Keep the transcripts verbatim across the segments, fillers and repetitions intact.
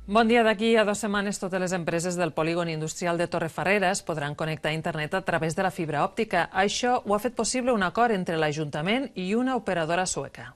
Bon dia. D'aquí a dues setmanes totes les empreses del polígon industrial de Torrefarrera es podran connectar a internet a través de la fibra òptica. Això ho ha fet possible un acord entre l'Ajuntament i una operadora sueca.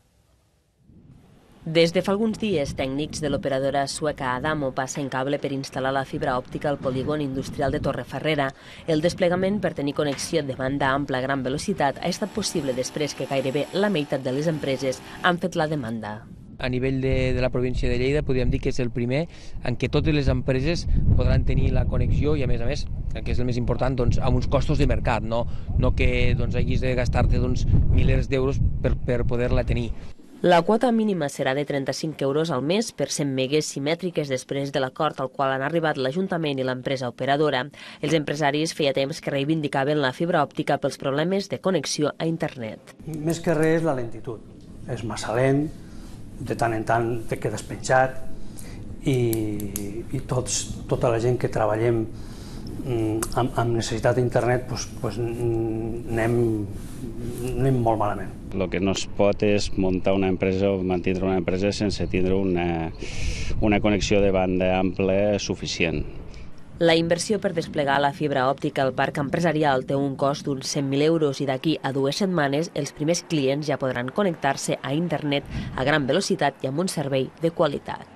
Des de fa alguns dies, tècnics de l'operadora sueca Adamo passen cable per instal·lar la fibra òptica al polígon industrial de Torrefarrera. El desplegament per tenir connexió de banda ampla a gran velocitat ha estat possible després que gairebé la meitat de les empreses han fet la demanda. A nivell de, de la província de Lleida podríem dir que és el primer en què totes les empreses podran tenir la connexió i, a més a més, el que és el més important, doncs, amb uns costos de mercat, no, no que doncs, hagis de gastar-te doncs, milers d'euros per, per poder-la tenir. La quota mínima serà de trenta-cinc euros al mes per cent megues simètriques després de l'acord al qual han arribat l'Ajuntament i l'empresa operadora. Els empresaris feia temps que reivindicaven la fibra òptica pels problemes de connexió a internet. Més que res és la lentitud. És massa lent, de tant en tant te quedes penjat i, i tots, tota la gent que treballem amb, amb necessitat d'internet doncs, doncs anem, anem molt malament. El que no es pot és muntar una empresa o mantindre una empresa sense tindre una, una connexió de banda ampla suficient. La inversió per desplegar la fibra òptica al parc empresarial té un cost d'uns cent mil euros i d'aquí a dues setmanes els primers clients ja podran connectar-se a internet a gran velocitat i amb un servei de qualitat.